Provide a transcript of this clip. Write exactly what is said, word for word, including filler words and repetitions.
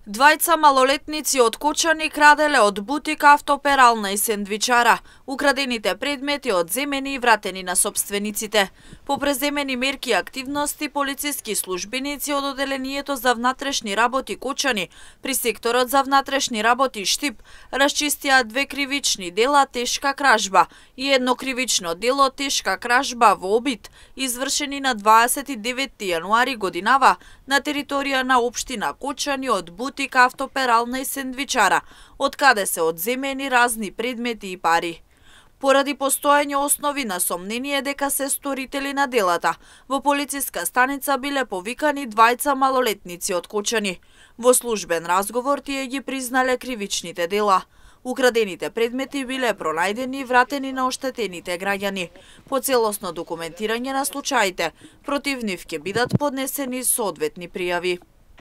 Двајца малолетници од Кочани краделе од бутик, автоперална и сендвичара. Украдените предмети одземени и вратени на собствениците. По преземени мерки и активности, полициски службеници од Оделението за внатрешни работи Кочани при секторот за внатрешни работи Штип расчистија две кривични дела тешка кражба и едно кривично дело тешка кражба во обид, извршени на дваесет и деветти јануари годинава на територија на општина Кочани од бутик, автоперална и сендвичара, од каде се одземени разни предмети и пари. Поради постоење основи на сомнение дека се сторители на делата, во полициска станица биле повикани двајца малолетници од Кочани. Во службен разговор тие ги признале кривичните дела. Украдените предмети биле пронајдени и вратени на оштетените граѓани. По целосно документирање на случаите, против нив ќе бидат поднесени соодветни пријави.